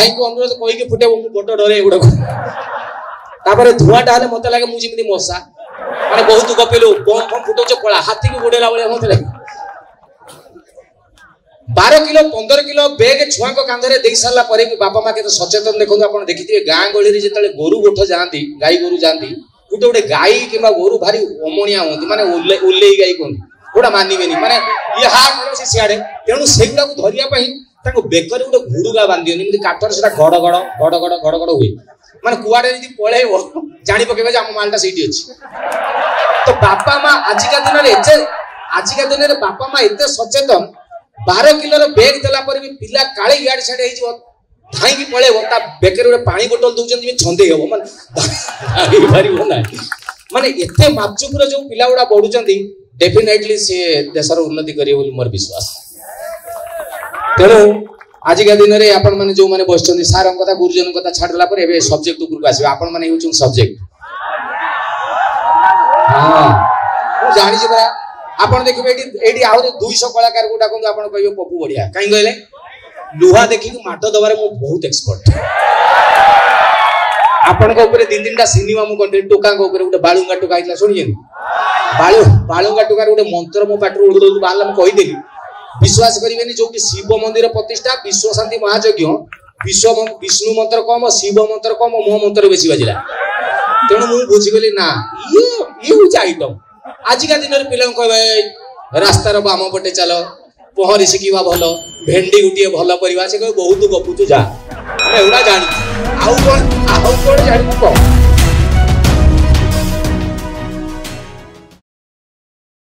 ଭାଇଙ୍କୁ ଅନୁରୋଧ କହିକି ଫୁଟେଇବ, ମୁଁ ବଡ ଡରେ ଏଗୁଡାକୁ। ତାପରେ ଧୂଆଁଟା ହେଲେ ମତେ ଲାଗେ ମୁଁ ଯେମିତି ମଶା, ମାନେ ବହୁତ ଗପିଲୁ, ବମ୍ ଫମ୍ ଫୁଟଉଛ ପଳା, ହାତୀକୁ ଗୋଡେଇଲା ଭଳିଆ ମତେ ଲାଗେ। 12 କିଲୋ 15 କିଲୋ ବେଗ ଛୁଆଙ୍କ କାନ୍ଧରେ ଦେଇ ସାରିଲା ପରେ ବି ବାପା ମା କେତେ ସଚେତନ ଦେଖନ୍ତୁ। ଆପଣ ଦେଖିଥିବେ ଗାଁ ଗହଳିରେ ଯେତେବେଳେ ଗୋରୁ ଗୋଠ ଯାଆନ୍ତି, ଗାଈ ଗୋରୁ ଯାଆନ୍ତି, ଗୋଟେ ଗୋଟେ ଗାଈ କିମ୍ବା ଗୋରୁ ଭାରି ଅମଣିଆ ହୁଅନ୍ତି, ମାନେ ଓଲେଇ ଗାଈ କୁହନ୍ତି, ଗୋଟା ମାନିବେନି, ମାନେ ଇଏ ହା କଣ ସେ ସିଆଡେ। ତେଣୁ ସେଇଗୁଡାକୁ ଧରିବା ପାଇଁ ତାଙ୍କୁ ବେକରେ ଗୋଟେ ଘୁଡୁଗା ବାନ୍ଧି ଦିଅନ୍ତି, ଏମିତି କାଠରେ ସେଟା ଗଡ ଗଡ ଗଡ ଗଡ ଗଡ ଗଡ ହୁଏ, ମାନେ କୁଆଡେ ଯଦି ପଳେଇବ ଜାଣି ପକେଇବେ ଯେ ଆମ ମାଲଟା ସେଇଠି ଅଛି। ତ ବାପା ମା ଆଜିକା ଦିନରେ ଏତେ, ଆଜିକା ଦିନରେ ବାପା ମା ଏତେ ସଚେତନ, 12 କିଲୋର ବେଗ ଦେଲା ପରେ ବି ପିଲା କାଳେ ଇଆଡେ ସିଆଡେ ହେଇଯିବ, ଧାଇଁକି ପଳେଇବ, ତା ବେକରେ ଗୋଟେ ପାଣି ବୋଟଲ ଦଉଛନ୍ତି, ଯେମିତି ଛନ୍ଦେଇ ହବ, ମାନେ ଧାଇଁପାରିବ ନାହିଁ। ମାନେ ଏତେ ମାପଚୁପର ଯୋଉ ପିଲା ଗୁଡା ବଢୁଛନ୍ତି, ଡେଫିନେଟଲି ସିଏ ଦେଶର ଉନ୍ନତି କରିବେ ବୋଲି ମୋର ବିଶ୍ୱାସ। ତେଣୁ ଆଜିକା ଦିନରେ ଆପଣମାନେ ଯୋଉମାନେ ବସିଛନ୍ତି, ସାରଙ୍କ କଥା ଗୁରୁଜନଙ୍କ କଥା ଛାଡ଼ିଦେଲା ପରେ ଏବେ ସବଜେକ୍ଟ ଉପରକୁ ଆସିବେ। ଆପଣମାନେ ହେଉଛନ୍ତି ସବଜେକ୍ଟ। ହଁ ମୁଁ ଜାଣିଛି ପରା। ଆପଣ ଦେଖିବେ ଏଇଠି, ଏଇଠି ଆହୁରି 200 କଳାକାରକୁ ଡାକନ୍ତୁ, ଆପଣ କହିବେ ପପୁ ବଢିଆ। କାହିଁ କହିଲେ ଲୁହା ଦେଖିକି ମାଡ଼ ଦବାରେ ମୁଁ ବହୁତ ଏକ୍ସପର୍ଟ। ଆପଣଙ୍କ ଉପରେ 2 3ଟା ସିନେମା ମୁଁ କରିଥିଲି। ଟୋକାଙ୍କ ଉପରେ ଗୋଟେ ବାଳୁଙ୍ଗା ଟୋକା ହେଇଥିଲା, ଶୁଣିଛନ୍ତି? ବାଳୁଙ୍ଗା ଟୋକାର ଗୋଟେ ମନ୍ତ୍ର ମୋ ପାଟିରୁ ଉଡୁ ଉଡୁ ବାହାରିଲା, ମୁଁ କହିଦେଲି। ବିଶ୍ୱାସ କରିବେନି, ଯୋଉଠି ଶିବ ମନ୍ଦିର ପ୍ରତିଷ୍ଠା, ବିଶ୍ୱ ଶାନ୍ତି ମହାଯଜ୍ଞ, ବିଷ୍ଣୁ ମନ୍ତ୍ର କମ, ଶିବ ମନ୍ତ୍ର କମ, ମୋ ମନ୍ତ୍ର ବେଶୀ ବାଜିଲା। ତେଣୁ ମୁଁ ବୁଝିଗଲି ନା ଇଏ ହଉଛି ଆଇଟମ। ଆଜିକା ଦିନରେ ପିଲାଙ୍କୁ କହିବେ ରାସ୍ତାର ବାମ ପଟେ ଚାଲ, ପହଁରି ଶିଖିବା ଭଲ, ଭେଣ୍ଡି ଗୋଟିଏ ଭଲ ପରିବା, ସେ କହିବେ ବହୁତ ଗପୁଛୁ ଯା, ଆମେ ଏଗୁଡ଼ା ଜାଣିଛୁ, ଆଉ କଣ ଜାଣିବୁ କହ।